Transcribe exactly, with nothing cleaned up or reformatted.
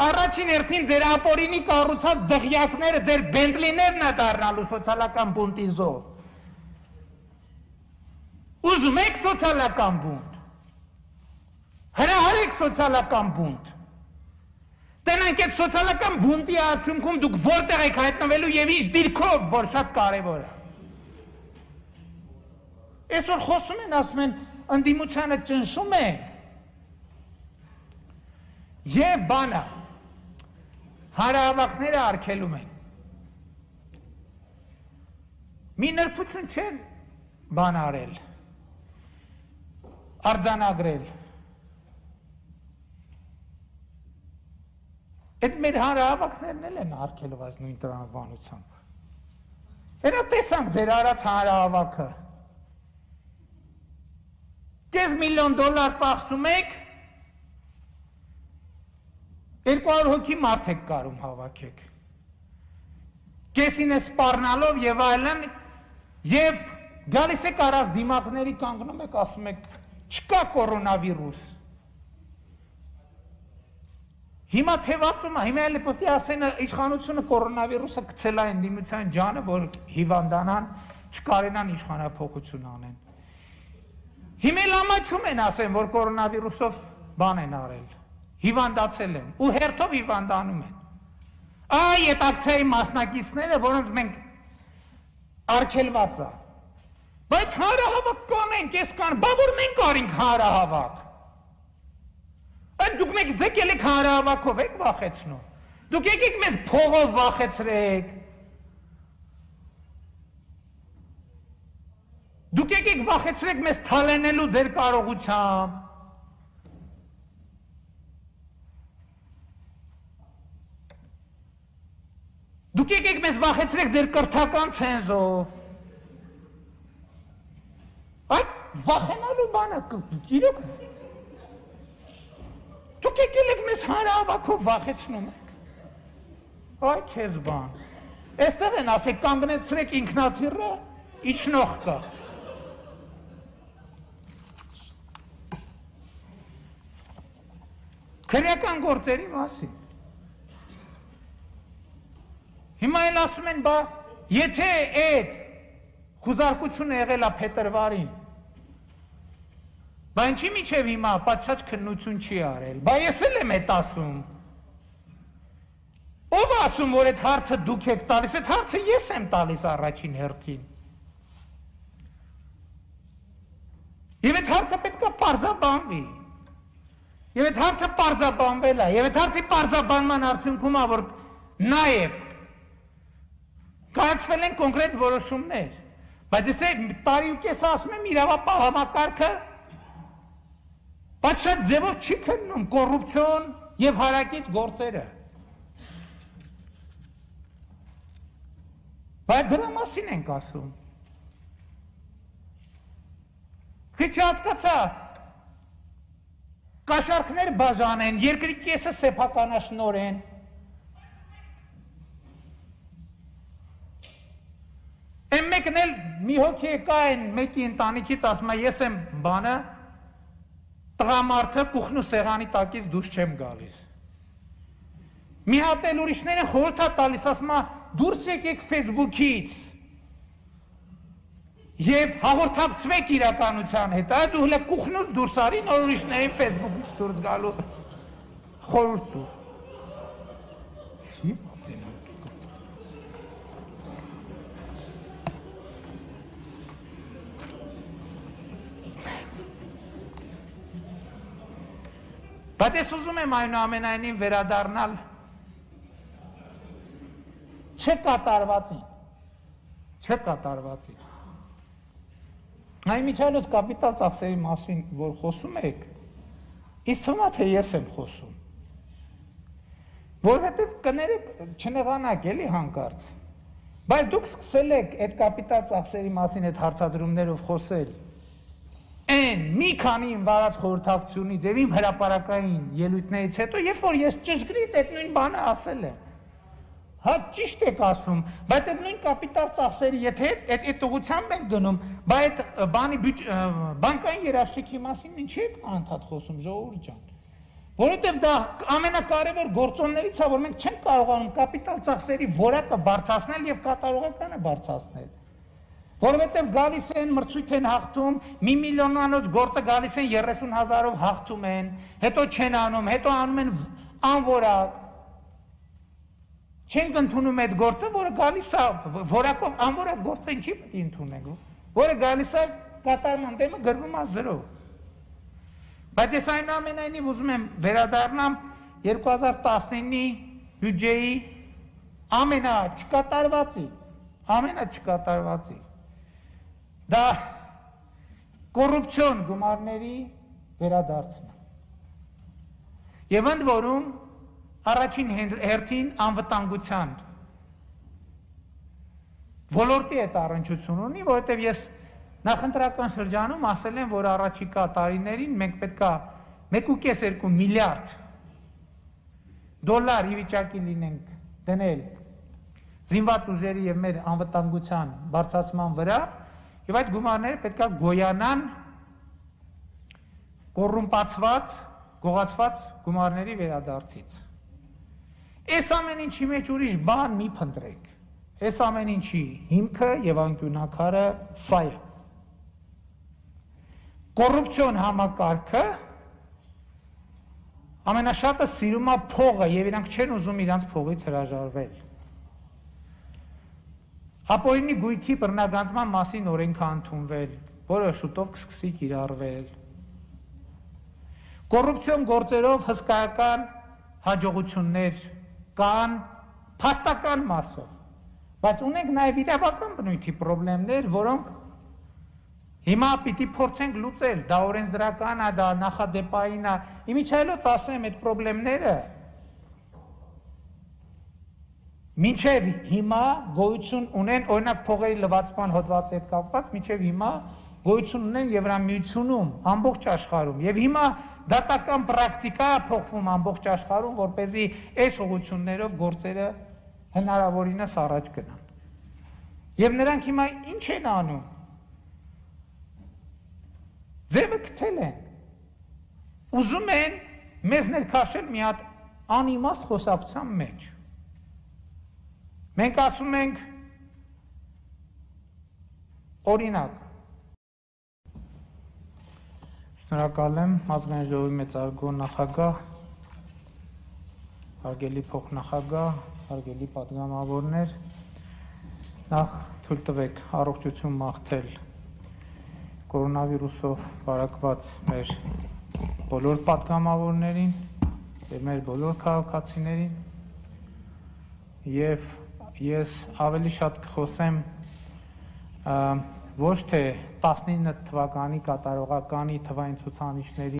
առաջին հերթին ձեր ապօրինի կառուցած դղյակները, ձեր բենտլիներն է դառնալու սոցիալական բունտի զոհ։ Ուզում եք սոցիալական բունտ։ Հրահարեք սոցիալական բունտ։ Տենանք այդ սոցիալական բունտի արդյունքում դուք որտեղ եք հայտնվելու եւ ինչ դիրքով, որ շատ կարեւոր է։ Այսօր խոսում են, ասում են, ընդդիմությանը ճնշում են։ Եվ բանը, հանրահավաքները արգելում են։ Մի նրբություն չեն բան արել, արձանագրել։ Այդ մեր հանրահավաքներն էլ են արգելում այս նույն տրամաբանությամբ։ Հենա տեսանք ձեր արած հանրահավաքը։ Կես միլիոն դոլար ծախսում եք, երկու հարյուր հոգի մարդ եք կարում հավաքեք։ Կեսին է սպառնալով եւ այլն, եւ գալիս եք առած դիմակների կանգնում եք, ասում եք, չկա կորոնավիրուս։ Հիմա թևածում է, հիմա էլի պետք է ասեն իշխանությունը կորոնավիրուսը գցել է ընդդիմության ջանը, որ հիվանդանան, չկարենան իշխանափոխություն անեն։ Հիմա լամաչում են ասեն, որ կորոնավիրուսով բան են արել, հիվանդացել են, ու հերթով հիվանդանում են։ Այ այդ ակցիայի մասնակիցները, որոնց մենք արգելված է։ Բայց հանրահավաք կանենք, ես կան, բա որ մենք արինք հանրահավաք։ Այդ դուք մեկ ձեկել եք հանրահավաքով եք վախեցնում։ Դուք եկեք մեզ փողով վախեցրեք։ Դուք եկեք վախեցրեք մեզ թալենելու ձեր կարողությամբ։ Դուք եկեք մեզ վախեցրեք ձեր կրթական ցենզով։ Այդ վախենալու բանը իրոք դուք եկել եք մեզ հանրահավաքով վախեցնում եք։ Այ քեզ բան։ Այստեղ են ասեք կանգնեցրեք ինքնաթիռը, իջնող կա։ Քրեական գործերի մասին։ Հիմա էլ ասում են, բա, եթե այդ խուզարկությունը եղել է փետրվարին, բա ինչի միջև հիմա պատշաճ քննություն չի արել, բա ես էլ եմ էդ ասում։ Ով ասում, որ այդ հարցը դուք եք տալիս, այդ հարցը ես եմ տալիս առաջին հերթին։ Եվ այդ հարցը պետք է պարզաբանվի։ Եվ այդ հարցը պարզաբանվել է, եւ այդ հարցի պարզաբանման արդյունքում է, որ նաեւ կայացվել են կոնկրետ որոշումներ, բայց ես տարի ու կես ասում եմ իրավապահ համակարգը պատշաճ ձևով չի քննում կոռուպցիոն եւ հարակից գործերը։ Բայց դրա մասին ենք ասում։ Քիչ հասկացա, կաշառքներ բաժանեն, երկրի կեսը սեփականաշնորհեն։ Եմ մեկն էլ մի հոգի եկա են մեկի ընտանիքից ասում է, ես եմ բանը, տղամարդը կուխն ու սեղանի տակից դուրս չեմ գալիս։ Մի հատ էլ ուրիշները խորհուրդ է տալիս, ասում է, դուրս եկեք Facebook-ից եւ հաղորդակցվեք իրականության հետ, այդ ու հլը կուխնուց դուրս արի, նոր ուրիշներին Facebook-ից դուրս գալու խորհուրդ տուր։ Բայց ես ուզում եմ այնուամենայնիվ վերադառնալ չկատարվածին, չկատարվածին։ Այն միջանոց կապիտալ ծախսերի մասին, որ խոսում եք, ինձ թվում է, թե ես եմ խոսում։ Որովհետև կներեք չնեղանակ էլի հանկարծ։ Բայց դուք սկսել եք այդ կապիտալ ծախսերի մասին այդ հարցադրումներով խոսել։ Այն մի քանի իմ վարած խորհրդակցությունից եւ իմ հրապարակային ելույթներից հետո, երբ որ ես ճշգրիտ այդ նույն բանը ասել եմ։ Հա ճիշտ եք ասում, բայց այդ նույն կապիտալ ծախսերի, եթե այդ այդ ուղղությամբ ենք գնում, բայց այդ բանի բանկային երաշխիքի մասին ինչի եք անդադ խոսում, ժողովուրդ ջան։ Որովհետև դա ամենակարևոր գործոններից է, որ մենք չենք կարողանում կապիտալ ծախսերի որակը բարձրացնել եւ կատարողականը բարձրացնել։ Որովհետև գալիս են մրցույթ են հաղթում, մի միլիոնանոց գործը գալիս են երեսուն հազարով հաղթում են, հետո չեն անում, հետո անում են անորակ։ Չենք ընդունում այդ գործը, որը գալիս է որակով անորակ գործը ինչի պետք է ընդունենք, որը գալիս է կատարման դեմը գրվում է զրո։ Բայց ես այնուամենայնիվ ուզում եմ վերադառնամ երկու հազար տասնինի բյուջեի ամենաչկատարվածի, ամենաչկատարվածի։ Դա կոռուպցիոն գումարների վերադարձն է։ Եվ ընդ որում առաջին հերթին անվտանգության ոլորտի հետ առնչություն ունի, որովհետև ես նախընտրական շրջանում ասել եմ, որ առաջիկա տարիներին մենք պետքա մեկ ու կես երկու միլիարդ դոլար ի վիճակի լինենք դնել զինված ուժերի եւ մեր անվտանգության բարձրացման վրա, եւ այդ գումարները պետքա գոյանան կոռումպացված, գողացված գումարների վերադարձից։ Այս ամեն ինչի մեջ ուրիշ բան մի փնտրեք։ Այս ամեն ինչի հիմքը եւ անկյունակարը սա է։ Կոռուպցիոն համակարգը ամենաշատը սիրում է փողը եւ իրանք չեն ուզում իրանք փողից հրաժարվել։ Ապօրինի գույքի բռնագանձման մասին օրենք է ընդունվել, որը շուտով կսկսի կիրառվել։ Կոռուպցիոն գործերով հսկայական հաջողություններ կան փաստական մասով, բայց ունենք նաեւ իրավական բնույթի խնդիրներ, որոնք հիմա պիտի փորձենք լուծել, դա օրենսդրական է, դա նախադեպային է, իմիջայլոց ասեմ այդ խնդիրները մինչև հիմա գոյություն ունեն, օրինակ փողերի լվացման հոդվածի հետ կապված, մինչև հիմա գոյություն ունեն Եվրամիությունում, ամբողջ աշխարհում, եւ հիմա դատական պրակտիկա է փոխվում ամբողջ աշխարհում, որպեսզի այս ուղղություններով գործերը հնարավորինս առաջ գնան։ Եվ նրանք հիմա ինչ են անում։ Ձևը գտել են, ուզում են մեզ ներքաշել մի հատ անիմաստ խոսակցության մեջ։ Մենք ասում ենք օրինակ, շնորհակալ եմ ազգային ժողովի մեծարգո նախագահ, հարգելի փոխնախագահ, հարգելի պատգամավորներ, նախ թույլ տվեք առողջություն մաղթել կորոնավիրուսով վարակված մեր բոլոր պատգամավորներին եւ մեր բոլոր քաղաքացիներին եւ ես ավելի շատ կխոսեմ ոչ թե տասնինը թվականի կատարողականի թվային ցուցանիշների